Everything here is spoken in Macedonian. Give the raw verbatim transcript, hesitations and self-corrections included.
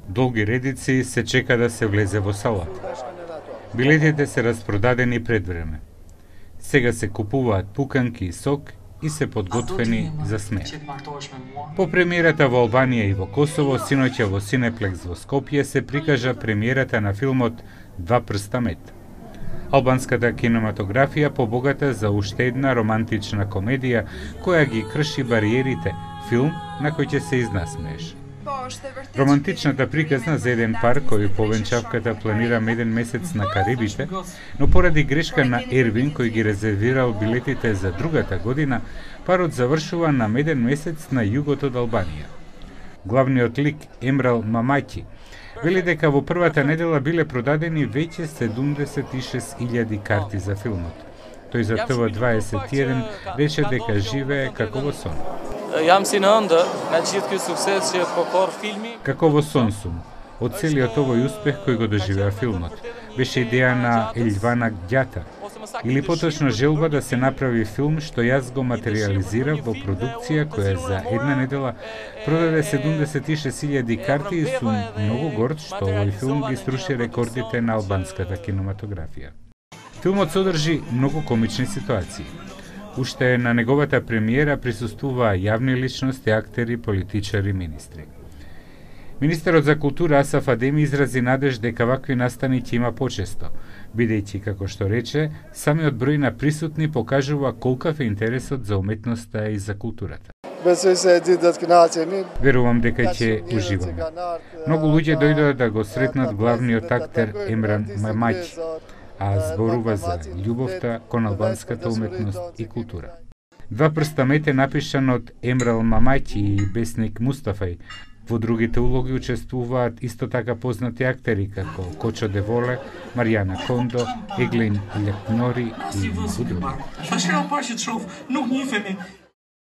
Долги редици се чека да се влезе во салата. Билетите се распродадени пред време. Сега се купуваат пуканки и сок и се подготвени за смеа. По премиерата во Албанија и во Косово, синоќа во Синеплекс во Скопје се прикажа премиерата на филмот Два прста мед. Албанската кинематографија побогата за уште една романтична комедија која ги крши бариерите, филм на кој ќе се изнасмееш. Романтичната приказна за еден пар кој по венчавката планира меден месец на Карибите, но поради грешка на Ервин кој ги резервирал билетите за другата година, парот завршува на меден месец на југот од Албанија. Главниот лик Емрал Мамаќи вели дека во првата недела биле продадени веќе седумдесет и шест илјади карти за филмот. Тој за Т В дваесет и еден рече дека живее како во сон. Jam si në ëndër nga gjithë ky sukses që po kor filmi. Како во сон сум, од целиот овој успех кој го доживеа филмот. Беше идеја на Елвана Ѓата, или поточно желба да се направи филм што јас го материализирав во продукција која за една недела продаде седумдесет и шест илјади карти и сум многу горд што овој филм ги струши рекордите на албанската кинематографија. Филмот содржи многу комични ситуации. Уште на неговата премиера присуствуваа јавни личности, актери, политичари, министри. Министерот за култура Асаф Адеми изрази надеж дека вакви настани ќе има почесто, бидејќи, како што рече, самиот број на присутни покажува колкав е интересот за уметноста и за културата. Верувам дека ќе уживаме. Многу луѓе дојдоа да го сретнат главниот актер Емрал Мамаќи, а зборува за љубовта кон албанската уметност и култура. Два прста мед е напишан од Емрал Мамаќи и Бесник Мустафај. Во другите улоги учествуваат исто така познати актери како Кочо Деволе, Маријана Кондо, Еглин Лекнори и други.